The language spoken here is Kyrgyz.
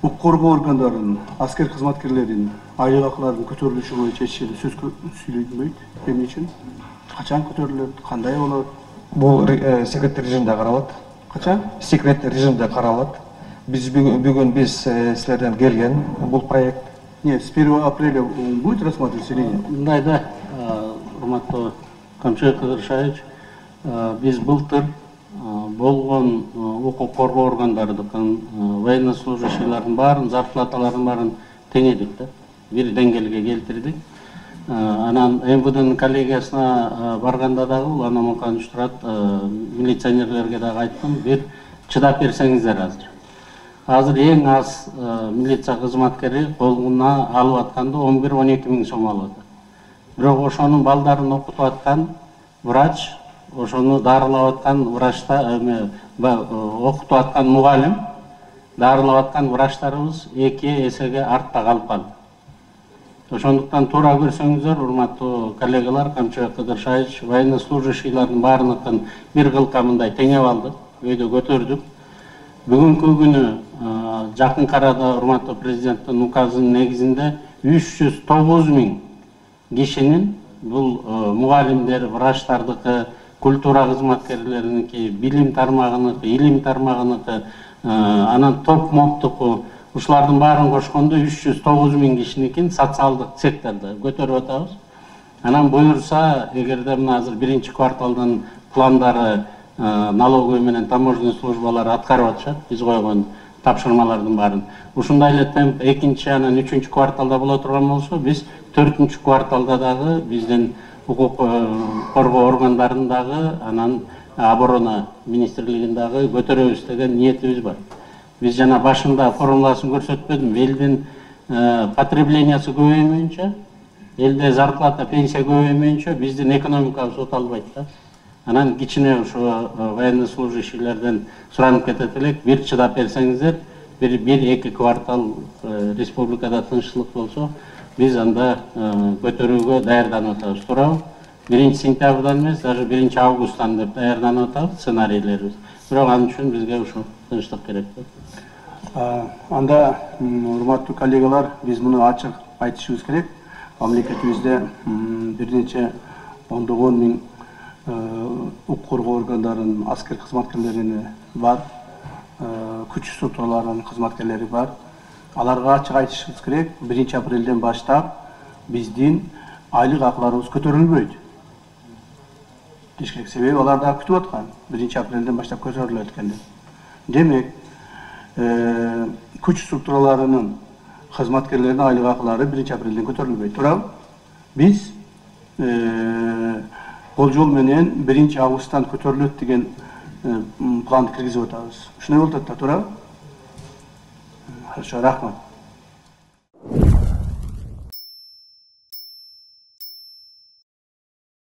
укук коргоо органдарынын, аскер кызматкерлеринин айлык акыларынын көтөрүлүшү боюнча эч жерде сөз сүйлөнбөйт. Эмне үчүн? Качан көтөрүлөт? Кандай болот? Бул секрет режимде каралат. Качан? Секрет режимде каралат. Биз бүгүн силерден келген бул проект. Нет, с 1 апреля будет рассматриваться или нет? Мындай да, урматтуу Камчыбек Кыдыршаевич, биз былтыр болгон укук коргоо органдарынын военнослужащийлердин баарын, зарплаталарын баарын теңедик да, бир деңгээлге келтирдик. Анан МВДнын коллегиясына барганда дагы бул анамыкан турат, милиционерлерге дагы айттым, бир чыдап берсеңиздер азыр. Азыр эң аз милиция кызматкери колуна алып атканда 11-12 миң сом алат. Бирок ошонун балдарын окутуп аткан врач, ошону дарылап аткан врачта, окутуп аткан мугалим, дарылап аткан врачтарыбыз 2 эсеге артта калып калды. Ошондуктан туура көрсөңүздөр, урматтуу коллегалар, Камчыбек Кыдыршаевич, военнослужащийлердин баарыныкын бир кылка мындай теңеп алдык, өйдө көтөрдүк. Бүгүнкү күнү жакын арада урматтуу президенттин указынын негизинде 309 миң кишинин, бул мугалимдер, врачтардыкы, культура кызматкерлериники, билим тармагыныкы, илим тармагыныкы, анан топ моптуку, ушулардын баарын кошкондо 309 миң кишиникин социалдык сектордо көтөрүп атабыз. Анан буюрса, эгерде мына азыр биринчи кварталдын пландары налоговый менен таможенный службалар аткарып атышат, биз койгон тапшырмалардын баарын. Ушундай эле темп экинчи, анан үчүнчү кварталда боло турган болсо, биз 4-чү кварталда дагы биздин укук коргоо органдарындагы, анан оборона министрлигин дагы көтөрөбүз деген ниетибиз бар. Биз жана башында формуласын көрсөтпөдүм, элдин потреблениясы көбөймөйүнчө, элде зарплата, пенсия көбөймөйүнчө биздин экономикабыз оталбайт да. Анан кичине ушу военнослужащийлерден суранып кетет элек, бир чыдап берсеңиздер, бир-эки квартал республикада тынччылык болсо, биз анда көтөрүүгө даярданып атабыз. Туурабы? 1 сентябрдан эмес, даже 1 августтан деп даярданып атабыз сценарийлерибиз. Бирок анын үчүн бизге ушу тынчтык керек да. Анда, урматтуу коллегалар, биз муну ачык айтышыбыз керек. Мамлекетибизде бир нече ондогон миң укук коргоо органдарынын аскер кызматкерлери бар, күч структураларынын кызматкерлери бар. Аларга ачык айтышыбыз керек. 1 апрелден баштап биздин айлык акыларыбыз көтөрүлбөйт. Дешкек себеби алар да күтүп аткан. 1 апрелден баштап көтөрүлөт экенин. Демек, күч структураларынын кызматкерлеринин айлык акылары 1 апрелден көтөрүлбөйт. Туурабы? Биз болжол менен 1 августтан көтөрүлөт деген планды киргизип атабыз. Ушундой болуп атат да, туурабы? Хорошо, рахмат.